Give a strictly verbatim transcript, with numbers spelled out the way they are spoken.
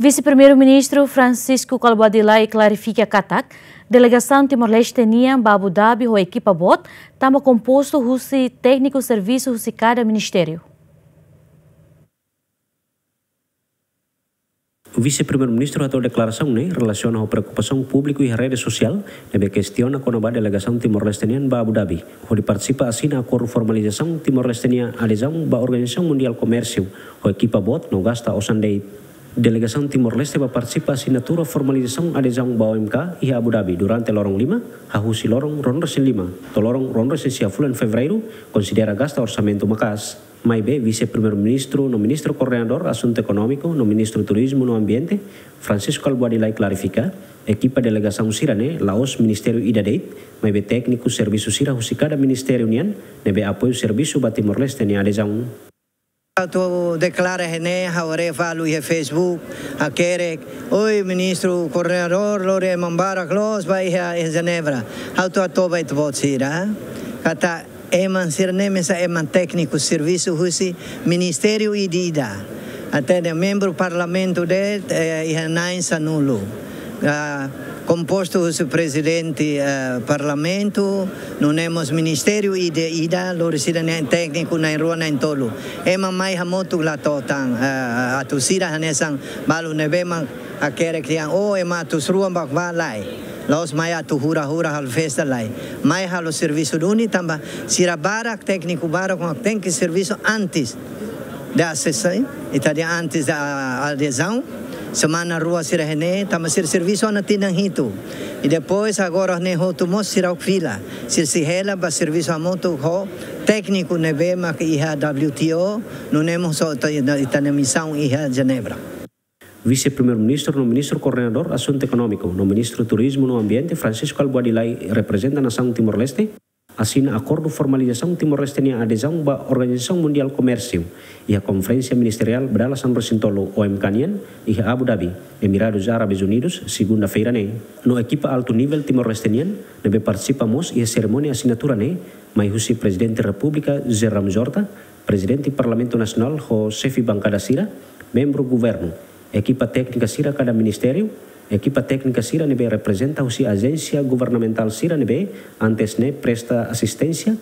Vise-Primeiru-Ministru Francisco Kalbuadi Lay klarifika katak delegasaun Timor-Leste nian ba Abu Dhabi ho ekipa boot, tanba kompostu husi tékniku servisu husi kada ministériu. Vise-Primeiru-Ministru hato'o deklarasaun ne'e relasiona ho preokupasaun públiku iha rede sosiál ne'ebé kestiona kona-ba delegasaun Timor-Leste nian ba Abu Dhabi hodi partisipa asina akordu formalizasaun Timor-Leste nia adezaun ba Organizasaun Mundiál Komérsiu ho ekipa boot no gasta osan de'it. Delegasaun Timor-Leste ba partisipa asinatura formalizasaun adezaun ba O M K iha Abu Dhabi durante loron lima, hahú husi loron ruanulu-resin-lima to'o loron ruanulu-resin-sia fulan Fevereiru, konsidera gasta orsamentu maka'as. Maibé Vise-Primeiru-Ministru no Ministru Koordenadór Asuntu Ekonómiku no Ministru Turizmu no Ambiente, Francisco Kalbuadi Lay klarifika, ekipa delegasaun sira-ne'e la'ós ministériu ida de'it, maibé tékniku servisu sira husi kada ministériu nian ne'ebé apoiu servisu ba Timor-Leste nia adezaun. Atu deklara iha ne'e, ha'u haree fali iha Facebook, hakerek, oi, ministru koordenadór, lori ema barak loos ba iha, iha Jenebra. Ha'u atu hato'o ba ita-boot sira katak ema sira-ne'e mesak ema tékniku servisu husi ministériu ida-idak. Até membru parlamentu de'it, eh, iha na'in sanulu. Ah, kompostu husi prezidente, eh, parlamentu, nune'e mós ministériu ida-idak, lori sira-nia tékniku na'in-rua na'in-tolu. Ema mai hamutuk la to'o tan, eh, atu sira hanesan balu ne'ebé mak hakerek dehan, oh, ema atus rua mak bá, lae. La'ós mai atu hura-hura halo festa, lae. Mai halo servisu duni tanba sira barak, tékniku barak mak tenke servisu antes de asesaun, ita dehan antes da adezaun, semana rua sira iha ne'e, tanba sira servisu ona tinan hitu. I depois agora ne'e hotu mós sira fila, sira sei hela ba servisu hamutuk ho tékniku ne'ebé mak iha W T O, nune'e mós ita, ita-nia misaun iha Jenebra. Vise-Primeiru-Ministru no Ministru Koordenadór Asuntu Ekonómiku no Ministru Turizmu no Ambiente, Francisco Kalbuadi Lay, reprezenta nasaun Timor-Leste, asina akordu formalizasaun Timor-Leste nia adezaun ba Organizasaun Mundiál Komérsiu iha Konferénsia Ministeriál ba dala sanulu-resin-tolu O M K nian iha Abu Dhabi, Emiradus Árabes Unidus, segunda-feira ne'e. No ekipa altu nivel Timor-Leste nian ne'ebé partisipa mós iha serimónia asinatura ne'e, mai husi Prezidente Repúblika José Ramos Horta, Prezidente Parlamentu Nasionál ho xefe bankada sira, membru governu, ekipa téknika sira kada ministériu, ekipa téknika sira ne'ebé reprezenta husi ajénsia governamentál sira ne'ebé antes ne'e presta asisténsia,